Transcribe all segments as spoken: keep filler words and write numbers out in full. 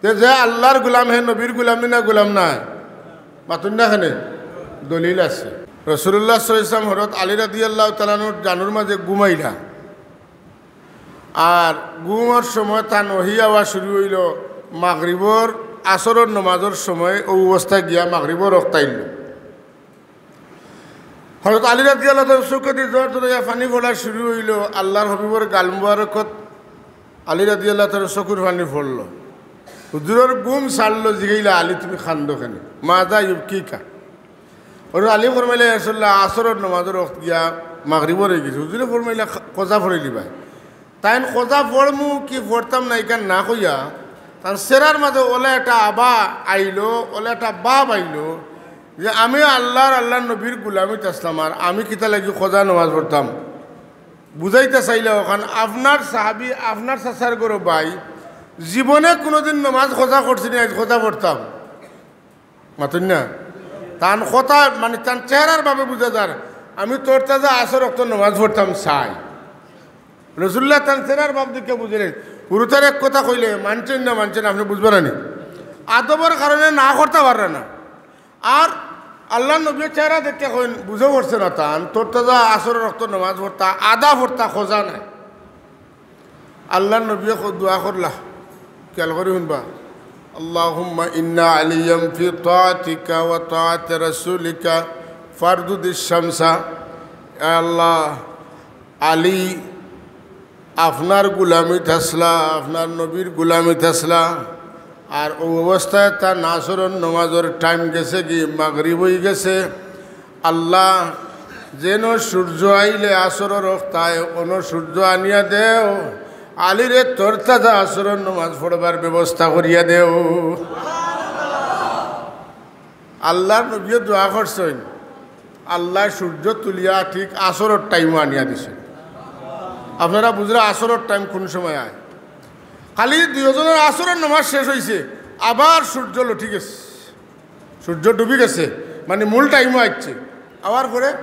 তে যে আল্লার গুলাম, হে নবীর গুলাম নি না গুলাম নায়? মাতুন না কেনে? দলিল আছে। রাসুলুল্লাহ সাল্লাল্লাহু আলাইহি ওয়াসাল্লাম হযরত আলী রাদিয়াল্লাহু তাআলা আনহুর জানুর মাঝে ঘুমাইলা, আর ঘুমর সময় তান ওহি আওয়া শুরু অইলো, মাগরিবর, আসরর নমাজর সময় অউ অবস্থায় গিয়া মাগরিবর অক্ত আইলো। হযরত আলী রাদিয়াল্লাহু তাআলা চউখেদি জোর জোরে পানি পড়া শুরু অইলো। আল্লার হাবিবর গাল মুবারকত আলী রাদিয়াল্লাহু তাআলা চউখর পানি পড়লো। হুজুরর ঘুম ছাড়লো, জিগাইলা, "আলী, তুমি কান্দো কেনে? মাযা ইউবকিকা?" হযরত আলী ফরমাইলা, "ইয়া রাসুলুল্লাহ, আসরর নমাজর অক্ত গিয়া মাগরিবর অইগেছে।" হুজুরে ফরমাইলা, "কা-, কাজা পড়িলিবায়।" তাইন কাজা পড়মু কি পড়তাম না, ইখান না কইয়া, তান চেহারার মাঝে অলা একটা আভা আইলো, অলা একটা ভাব আইলো যে, "আমি আল্লার, আল্লার নবীর গুলামিত আছলাম, আর আমি কিতা লাগি কাজা নমাজ পড়তাম?" বুঝাইতা চাইলা অখান, আপনার সাহাবী, আপনার চাচার ঘরর ভাই, জীবনে কুনুদিন নমাজ কাজা করছে নি, আইজ কাজা পড়তাম। মাতুন না? তান কথা, মানে, তান চেহারার ভাবে বুঝা যার, "আমি তরতাজা আসর অক্ত নমাজ পড়তাম চাই।" রাসুলুল্লাহ তান চেহারার ভাব দেখিয়া বুঝিলেন। হুরুতার এক কথা কইলে মানছইন না মানছইন, আপনে বুঝবা না নি? আদবর কারণে না করতা পাররা না। আর আল্লার নবীয়ে চেহারা দেখিয়া কইন, বুঝা পড়ছে না তান, তরতাজা আসরর অক্ত নমাজ পড়তা, আধা পড়তা, কাজা নায়। আল্লার নবীয়ে ক-, দোয়া করলা, খিয়াল করি হুনবা, "আল্লাহুম্মা ইন্না আলিয়াম ফি তাআতিকা ওয়া তাআতি রাসূলিকা ফারদুদিশ শামসা।" এ আল্লাহ, আলী আপনার গুলামিত আছলা, আপনার নবীর গুলামিত আছলা, আর অউ অবস্থায় তান আসরর নমাজর টাইম গেছেগি, মাগরিব অইগেছে। আল্লাহ, যেন সূর্য আইলে আসরর অক্তায় অনো সূর্য আনিয়া দেও, আলীরে তরতাজা আসরর নমাজ পড়বার ব্যবস্থা করিয়া দেও। আল্লার নবীয়ে দোয়া করছইন, আল্লায় সূর্য তুলিয়া ঠিক আসরর টাইমো আনিয়া দিছইন। আপনারা বুঝরা আসরর টাইম কুন সময় আয়? খালি দুইওজনর আসরর নমাজ শেষ অইছে, আবার সূর্য লটি গেছে, সূর্য ডুবি গেছে, মানে মূল টাইমো আইছে। আওয়ার পরে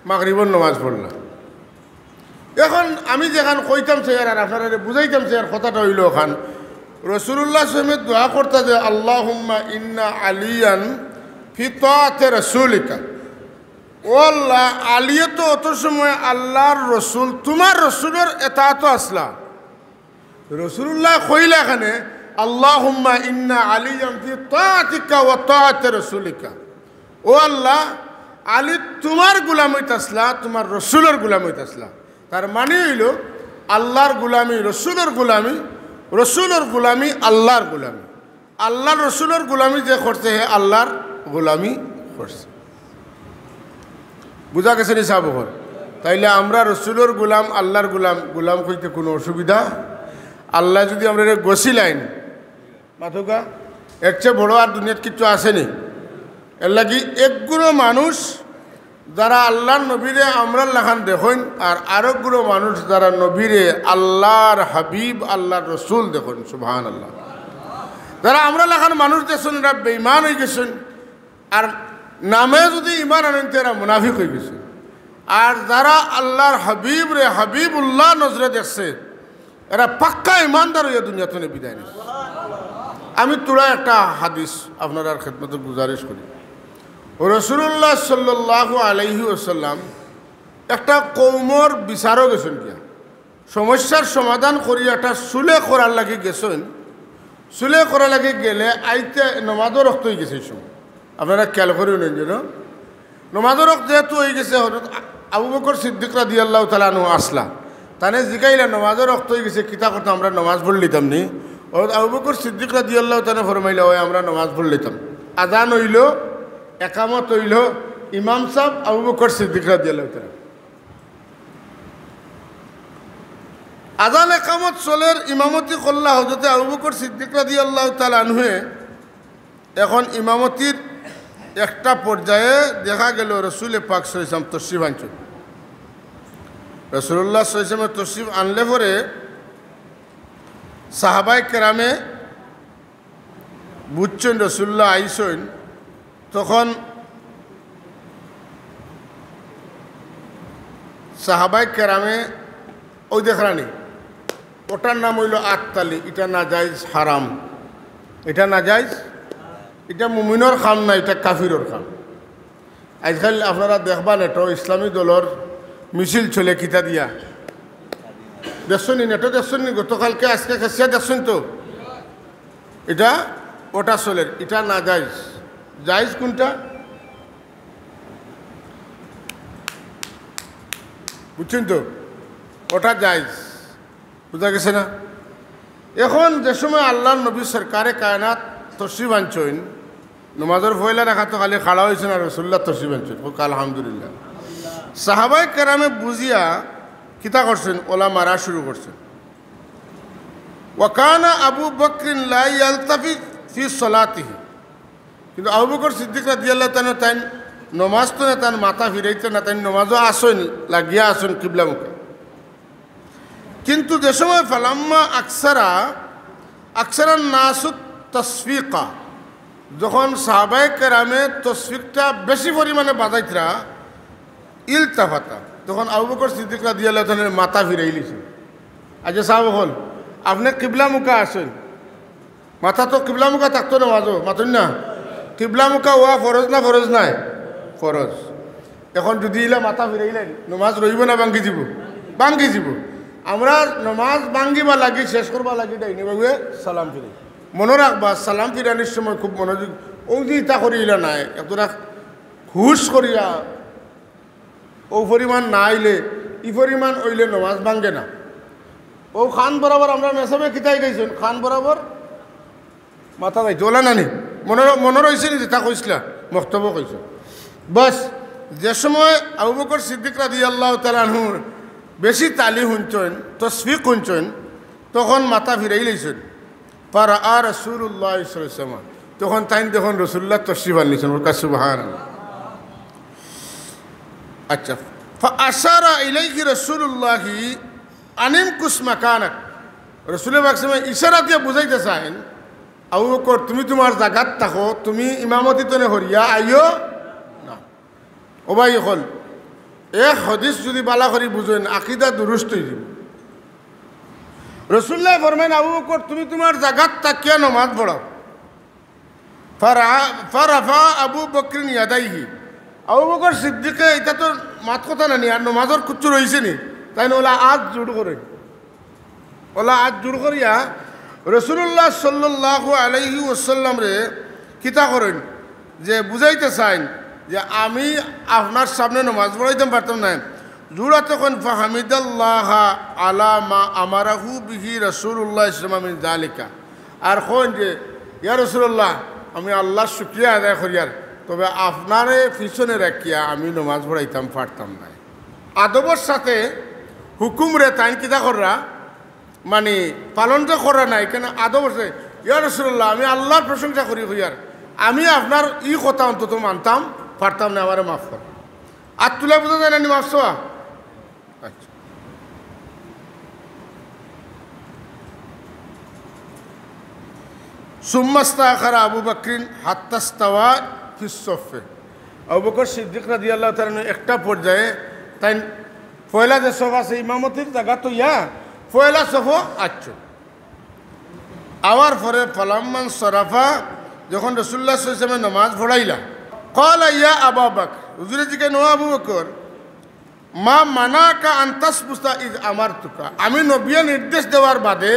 মাগরিবর নমাজ পড়লা। এখন আমি যেখান কইতাম চাইয়ার আর আপনারারে বুঝাইতাম চাইয়ার কথাটা অইলো অখান, রাসুলুল্লাহ সাল্লাল্লাহু আলাইহি ওয়াসাল্লামে দোয়া করতা যে, "আল্লাহুম্মা ইন্না আলিয়ান ফি তাআতি রাসূলিকা।" ও আল্লাহ, আলিয়ে তো অত সময় আল্লার রসুল, তুমার রসুলর এতাআতো আছলা। রাসুলুল্লায় কইলা অখানে, "আল্লাহুম্মা ইন্না আলিয়ান ফি তাআতিকা ওয়া তাআতি রাসূলিকা।" ও আল্লাহ, আলী তুমার গুলামিত আছলা, তুমার রসুলর গুলামিত আছলা। তার মানি অইলো, আল্লার গুলামি রসুলর গুলামি, রসুলর গুলামি আল্লার গুলামি। আল্লার রসুলর গুলামি যে করছে, হে আল্লার গুলামি করছে। বুঝা গেছে নি সাব অকল? তাইলে আমরা রসুলর গুলাম, আল্লার গুলাম, গুলাম কইতে কুনু অসুবিধা? আল্লায় যুদি আমরারে গছিলাইন, মাতউক্কা, এর চেয়ে বড় আর দুনিয়াত কিচ্ছু আছে নি? এরলাগি একগুলো মানুষ যারা আল্লার নবীরে আমরার লাখান দেখইন, আর আরকগুলো মানুষ যারা নবীরে আল্লার হাবিব, আল্লার রসুল দেখইন। সুবহানাল্লাহ। যারা আমরার লাখান মানুষ দেখছইন, এরা বেঈমান অইগেছইন। আর নামে যুদি ঈমান আনইন, তে এরা মুনাফিক অইগেছইন। আর যারা আল্লার হাবিবরে হাবিবুল্লাহ নজরে দেখছে, এরা পাক্কা ঈমানদার অইয়া দুনিয়া থনে বিদায় নিছে। আমি থুড়া একটা হাদিস আপনারার খেদমতো গুজারিশ করি। রাসুলুল্লাহ সাল্লাল্লাহু আলাইহি ওয়াসাল্লাম একটা কওমর বিচারো গেছইন গিয়া, সমস্যার সমাধান করি একটা সুলে করার লাগি গেছইন। সুলে করার লাগি গেলে আইতে নমাজর অক্ত অইগেছে এই সময়। আপনারা খিয়াল করি হুনইন যেন, নমাজর অক্ত যেহেতু অইগেছে, হযরত আ-, আবু বকর সিদ্দিক রাদিয়াল্লাহু তাআলা আনহু আছলা। তানে জিগাইলা, "নমাজর অক্ত অইগেছে, কিতা করতাম, আমরা নমাজ পড়লিতাম নি?" হযরত আবু বকর সিদ্দিক রাদিয়াল্লাহু তাআলা ফরমাইলা, "অয়, আমরা নমাজ পড়লিতাম।" আজান অইলো, একামত অইলো, ইমাম সাব আবু বকর সিদ্দিক রাদিয়াল্লাহু তাআলা। আজান একামত চলের, ইমামতি করলা হযরতে আবু বকর সিদ্দিক রাদিয়াল্লাহু তাআলা আনহুয়ে। এখন ইমামতির একটা পর্যায়ে দেখা গেল রসুলে পাক সাল্লাল্লাহু আলাইহি ওয়াসাল্লাম তশরিফ আনছইন। রাসুলুল্লাহ সাল্লাল্লাহু আলাইহি ওয়াসাল্লাম তশরিফ আনলে পরে সাহাবায়ে কেরামে বুঝছইন রসুলুল্লাহ আইছইন, তখন সাহাবায়ে কেরামে, অউ দেখরা নি, ওটার নাম অইলো আততালি, ইটা নাজায়েজ, হারাম। ইটা নাজাইজ। ইটা মুমিনর কাম না, ইটা কাফিরর কাম। আইজকাইল আপনারা দেখবা নেটো ইসলামী দলর মিছিল চলে কিতা দিয়া। দেখছইন নি নেটো, দেখছইন নি? গতকালকে, আইজকে কেসিয়া দেখছইন তো? ইটা ওটা চলের, ইটা নাজাইজ। জাইজ কুনটা? বুঝছইন তো? ওটা জাইজ। বুঝা গেছে না? এখন যে সময় আল্লার নবী সরকারে কায়নাত তশরিফ আনছইন, নমাজর পয়লা রাকাতো খালি খাড়া অইছইন আর রাসুলুল্লাহ তশরিফ আনছইন। কউক্কা আলহামদুলিল্লাহ। সাহাবায়ে কেরামে বুঝিয়া কিতা করছইন? ওলা মারা শুরু করছইন। ওয়াকানা আবু বকরিন লা ইয়ালতাফিত ফি সলাতিহি। কিন্তু আবু বকর সিদ্দিক রাদিয়াল্লাহু তাআলা তাইন নমাজ তো না, তান মাথা ফিরাইতা না, তাইন নমাজো আছইন, লাগিয়া আছইন কিবলামুখে। কিন্তু যে সময় ফালাম্মা আকসারা, আকসারান নাসুত তসফিকা, যখন সাহাবায়ে কেরামে তসফিকটা বেশি পরিমাণে বাজাইতরা, ইলতাফাতা, তখন আবু বকর সিদ্দিক রাদিয়াল্লাহু তাআলার মাথা ফিরাইলিছে। আচ্ছা সাহাব অকল, আপনে কিবলামুখা আছইন, মাথা তো কিবলামুখা থাকতো নমাজো, মাতইন না? কিবলামুখা অওয়া ফরজ না ফরজ নায়? ফরজ। এখন যুদি ইলা মাথা ফিরাইলাইন, নমাজ রইবো না ভাঙ্গি যিবো? ভাঙ্গি যিবো। আমরা নমাজ ভাঙ্গিবার লাগি, শেষ করবার লাগি ডাইনে বাউয়ে সালাম ফিরাই। মনো রাখবা, সালাম ফিরানির সময় খুব মনোযোগ, অউ যে ইতা করি ইলা নায়, এতটা হুশ করিয়া অউ পরিমাণ না অইলে, ই পরিমাণ অইলে নমাজ ভাঙ্গে না। অউ কান বরাবর আমরা মেসাবে কিতা হিকাইছইন, কান বরাবর মাথা যাইতো, অলা নানি? মনো, মনো রইছে নি যেতা কইছলা? মক্তবো কইছো। বাস, যে সময় আবু বকর সিদ্দিক রাদিয়াল্লাহু তাআলা আনহুর বেশি তালি হুনছইন, তসফিক হুনছইন, তখন মাথা ফিরাইলাইছইন। ফারাআ রাসুলুল্লাহ সাল্লাল্লাহু আলাইহি ওয়াসাল্লাম, তখন তাইন দেখইন রাসুলুল্লাহ তশরিফ আনলিছইন। কউক্কা সুবহানাল্লাহ। আচ্ছা, ফাআশারা ইলাইহি রাসুলুল্লাহি, আনিমকুস মাকানাক। রাসুলে পাক সাল্লাল্লাহু আলাইহি ওয়াসাল্লাম ইশারা দিয়া বুঝাইতা চাইন, আবু বকর, তুমি তুমার জাগাত থাকো, তুমি ইমামতি তনে হরিয়া আইও না। ও ভাই অকল, এক হাদিস যুদি বালা করি বুঝইন, আকিদা দুরুস্ত অইযিবো। রাসুলুল্লায় ফরমাইন, আবু বকর, তুমি তুমার জাগাত থাকিয়া নমাজ পড়াও। ফারা-, ফারাফা আবু বকরিন ইয়াদাইহি। আবু বকর সিদ্দিকে, ইতা তো মাত কথা নানি, আর নমাজর কুচ্ছু রইছে নি, তাইন অলা আত জুড় করইন। অলা আত জুড় করিয়া রাসুলুল্লাহ সাল্লাল্লাহু আলাইহি ওয়াসাল্লামরে কিতা করইন, যে বুঝাইতা চাইন যে আমি আপনার সামনে নমাজ পড়াইতাম পারতাম নায়। জুড়াত কইন, ফাহামিদাল্লাহা আলা মা আমারাহু বিহি রাসুলুল্লাহ সাল্লাল্লাহু আলাইহি ওয়াসাল্লাম মিন যালিকা। আর কইন যে, ইয়া রাসুলুল্লাহ, আমি আল্লার শুকরিয়া আদায় করিয়ার, তবে আপনারে পিছনে রাখিয়া আমি নমাজ পড়াইতাম পারতাম নায়। আদবর সাথে হুকুমরে তাইন কিতা কররা, মানি পালন তো কররা নায়, কেনে আদবর সাথে, ইয়া রাসুলুল্লাহ, আমি আল্লার প্রশংসা করি কইয়ার, আমি আপনার ই কথা অন্তত মানতাম পারতাম নায়, আমারে মাফ কর। আত তুলা বুঝা যায় না নি মাফ চাওয়া? আচ্ছা। সুম্মাস্তাখারা আবু বকরিন হাত্তাস্তাওয়া ফিস সফে। আবু বকর সিদ্দিক রাদিয়াল্লাহু তাআলা আনহু একটা পর্যায়ে তাইন পয়লা যে সফ আছে ইমামতির জাগাত অইয়া পয়লা সফো আইছইন। আওয়ার পরে ফালাম্মান সরাফা, যখন রাসুলুল্লাহ সাল্লাল্লাহু আলাইহি ওয়াসাল্লামে নমাজ পড়াইলা, ক্বালা ইয়া আবা বকর, হুজুরে জিকাইন, ও আবু বকর, মা মানাকা আন তাসবুতা ইজ আমারতুকা, আমি নবিয়ে নির্দেশ দেওয়ার বাদে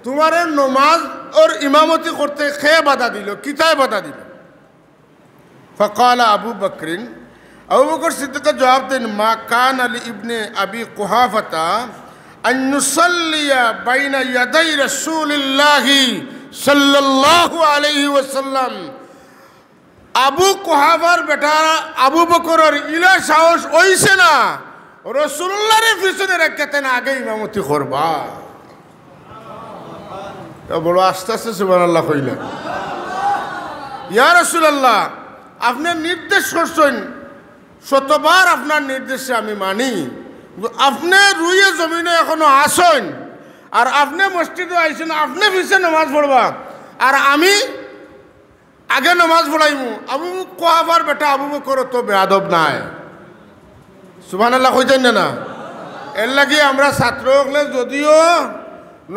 তুমারে নমাজর ইমামতি করতে কে বাধা দিল, কিতায় বাধা দিল? ফাকালা আবু বকরিন, আবু বকর সিদ্দিকে জবাব দেইন, মা কানা লি ইবনে আবি কুহাফাতা আন ইউসাল্লিয়া বাইনা ইয়াদাই রাসুলিল্লাহি সাল্লাল্লাহু আলাইহি ওয়াসাল্লাম। আবু কুহাফার বেটা আবু বকরর ইলা সাহস অইছে না, রাসুলুল্লাহরে পিছনে রাখিয়া তাইন আগে ইমামতি করবা। তা বড় আস্তে আস্তে সুবহানাল্লাহ কইলা। ইয়া রাসুলাল্লাহ, আপনে নির্দেশ করছইন, শতবার আপনার নির্দেশে আমি মানি, কিন্তু আপনে রুয়ে জমিনো এখনো আছইন, আর আপনে মসজিদো আইছইন, আপনে পিছে নমাজ পড়বা, আর আমি আগে নমাজ পড়াইমু। আবু কুহাফার বেটা আবু বকর তো বেয়াদব নায়। সুবহানাল্লাহ কইতাইন না, না? এরলাগি আমরা ছাত্র অকলে যুদিও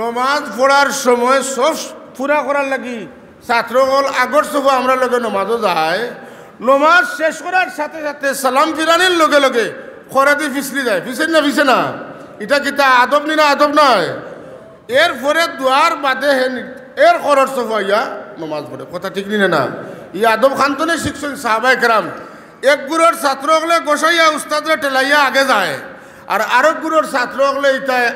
নমাজ পড়ার সময় সফ পুরা করার লাগি ছাত্র অকল আগর সফো আমরার লগে নমাজো যায়, নমাজ শেষ করার সাথে সাথে সালাম ফিরানির লগে লগে খরেদি ফিছলি যায়, ফিছইন না ফিছে না? ইটা কিতা আদব নি না আদব নায়? এরপরে দোয়ার বাদে হে নি-, এর খরর সফো আইয়া নমাজ পড়ে, কথা ঠিক নি না? ই আদব খানতনে শিখছইন সাহাবায়ে কেরাম। এক গুরুর ছাত্র অকলে গোসাইয়া উস্তাদরে ঠেলাইয়া আগে যায়, আর আরক গুরুর ছাত্র অকলে ইতায়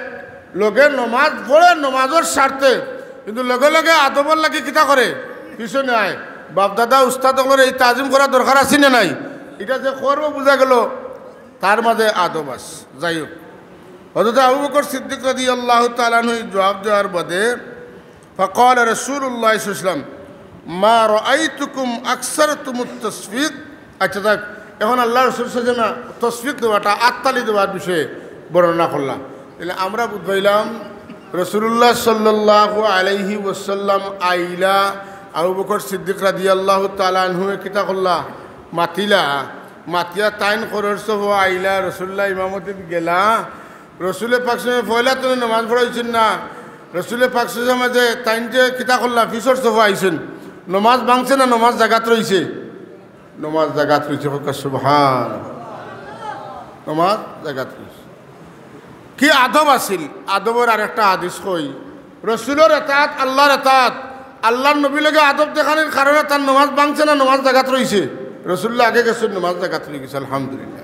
লগে নমাজ পড়ে নমাজর স্বার্থে, কিন্তু লগে লগে আদবর লাগি কিতা করে? পিছনে আয়। বাপদাদা উস্তাদ অকলর এই তাজিম করা দরকার আছে না নাই? ইটা যে করবো বুঝা গেল তার মাঝে আদব আছে। যাই হোক, হযরত আবু বকর সিদ্দিক রাদিয়াল্লাহু তাআলা আনহু জবাব দেওয়ার বাদে فقال رسول الله صلى الله عليه وسلم ما رأيتكم أكثرتم التصفيق। আচ্ছা, থাক, এখন আল্লাহ রসুল সাল্লাল্লাহু আলাইহি ওয়াসাল্লাম তসফিক দেওয়াটা, আত্তালি দেওয়ার বিষয়ে বর্ণনা করলা। তাহলে আমরা বুঝ পাইলাম, রসুলুল্লাহ সাল্লাল্লাহু আলাইহি ওয়াসাল্লাম আইলা, আবু বকর সিদ্দিক রাদিয়াল্লাহু তাআলা আনহুয়ে কিতা করলা? মাতিলা। মাতিয়া তাইন খরর সফো আইলা, রসুলুল্লাহ ইমামতিত গেলা। রসুলে পাক সাল্লাল্লাহু আলাইহি ওয়াসাল্লাম পয়লা তো নমাজ পড়াইছইন না। রসুলে পাক সাল্লাল্লাহু আলাইহি ওয়াসাল্লাম যে তাইন যে কিতা করলা, পিছর সফো আইছইন, নমাজ ভাঙছে না নমাজ জাগাত রইছে? নমাজ জাগাত রইছে, কউক্কা সুবহান। নমাজ জাগাত রইছে। কি আদব আছিল? আদবর আরেকটা হাদিস কই, রসুলর এতাত, আল্লাহর এতাত, আল্লাহর নবীর লগে আদব দেখানির কারণে তার নমাজ ভাঙছে না নমাজ জাগাত রইছে? রসুলুল্লাহ আগে গেছইন, নমাজ জাগাত রই গেছে, আলহামদুলিল্লাহ।